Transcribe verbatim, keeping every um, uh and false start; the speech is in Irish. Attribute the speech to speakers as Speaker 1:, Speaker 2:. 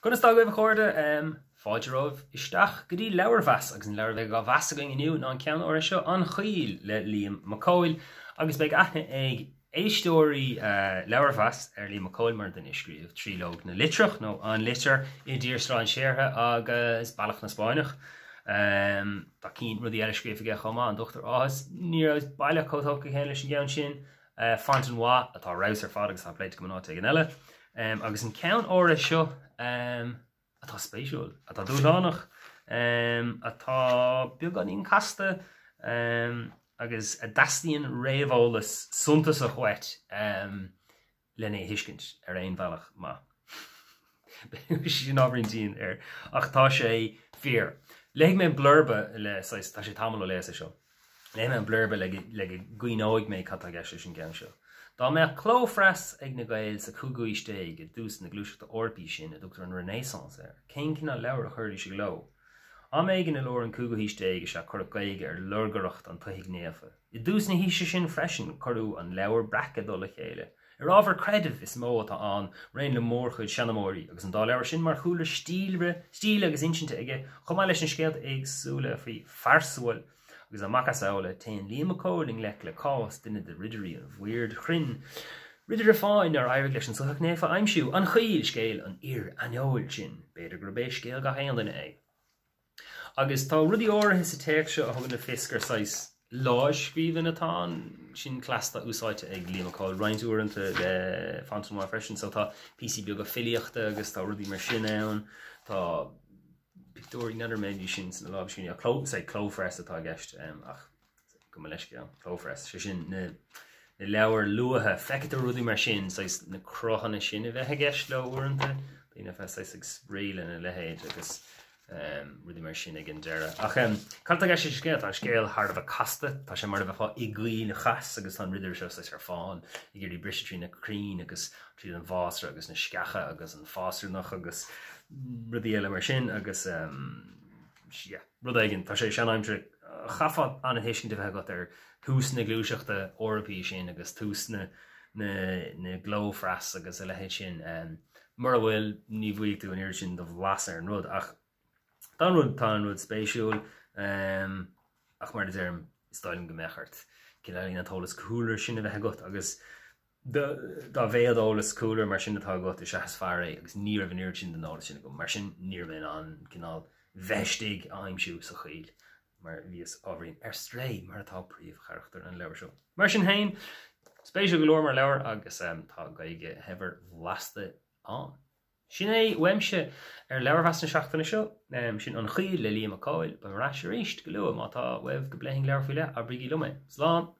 Speaker 1: Conas tá agaibh a chairde fáilte romhaibh isteach go dtí leabharmheas agus an leabhar a bheidh á mheas againn inniu ná an ceann áirithe seo An Choill le Liam Mac Cóil agus beidh aithne ag éisteoirí leabharmheas ar Liam Mac Cóil mar duine a scríobh Tríológ na Litreach nó An Litir i dTír Strainséartha agus Bealach na Spáinneach. Tá cinn rudaí eile scríofa aige chomh maith an Dochtúir Áthas ní raibh baileach chomh tógtha céanna leis an gceann sin. Fontenoy atá ar fheabhas ar fad agus tá pléite agam in áit éigin eile. Um, agus an ceann áirithe seo um, atá spéisiúil, atá dúshlánach, um, atá beagáinín casta um, agus a dteastaíonn réamheolas suntasach uait um, lena thuiscint ar aon bhealach maith. Sin ábhairín dian air ach tá sé fíor. Léifidh mé blurba le tá sé tamall ó léas é seo. Léifidh mé an blurba le le go gcuimhneoidh mé cad tá i gceist leis an gceann seo. Dá mbeadh clóphreas ag na Gaeil sa cúigiú haois déag i dtús na gluaiseachta Eorpaí sin a dtugtar an Renaissance air, cén cineál leabhar a chuirfidís i gcló? Am éigin i lár an cúigiú haois déag is ea cuireadh Gaeilge ar lorgaireacht an tSoithigh Naofa. I dtús na haoise sin freisin cuireadh an leabhar breac i dtoll a chéile. Ar ábhar creidimh is mó atá ann, mar aon le mórchuid seanmóirí, agus an dá leabhar sin mar chúlra stíle stíle agus insinte aige, chomh maith leis na scéalta éagsúla faoi Pharsaval agus a macasamhla téann Liam Mac Cóil i ngleic le cás duine de ridirí an bhoird chruinn. Ridire fáin nár éirigh leis an Soitheach Naofa a aimsiú, an Choill scéal an fhir aineoil sin, b'fhéidir gurb é scéal gach aon duine é. Agus tá rudaí áirithe sa téacs seo a thugann le fios gur saghas lámhscríbhinn atá ann, sin cleas atá úsáidte ag Liam Mac Cóil roinnt uaireanta le Fontenoy freisin, so tá píosaí beaga filíochta agus tá rudaí mar sin ann, tá pictiúirí n'fheadar mbeidís sin sna lámhscríbhinní cló sé clóphreas atá i gceist ach go mba leisce clóphreas sé sin na na leabhair luatha feictear tú rudaí mar sin saghas na cruthanna sin a bheith i gceist leo uaireanta daoine bheith saghas ag spraoi lena leithéid agus um, rudaí mar sin ag an deireadh. Ach um, cad tá i gceist leis an scéal tá an scéal thar a bheith casta tá sé mar a bheifeá i gcoill chas agus tá an ridire seo saghas ar fán ag iarraidh briseadh trí na crainn agus tríd an bhfásra agus na sceacha agus an fásarnach agus rudaí eile mar sin agus um, yeah, rud éigin tá sé sean-aimsire chaithfeá an-tuiscint a bheith agat ar thús na gluaiseachta Eorpaí sin agus tús na na na gclóphreas agus a leithéid sin um, mura bhfuil ní bhfaighidh tú an oiread sin de bhlas ar an rud ach tá an rud tá an rud spéisiúil um, ach mar a deirim is dóigh liom go mbeadh ort cineál an t-eolas cúlra sin a bheith agat agus dá mhéad eolas cúlra mar sin atá agat is ea is fearr é agus ní raibh an oiread sin den eolas sin agam mar sin ní raibh mé in ann cineál bheith istigh a aimsiú sa choill mar bhíos ábhairín ar strae mar atá príomhcharachtar an leabhar seo. Mar sin féin, spéisiúil go leor mar leabhar agus um, tá Gaeilge shaibhir bhlasta ann. Sin é uaimse ar leabharmheas na seachtaine seo, um, sin An Choill le Liam Mac Cóil, beidh mé ar ais arís go luath má tá uaibh go bpléifinn leabhar faoi leith, abraigí liom é. Slán!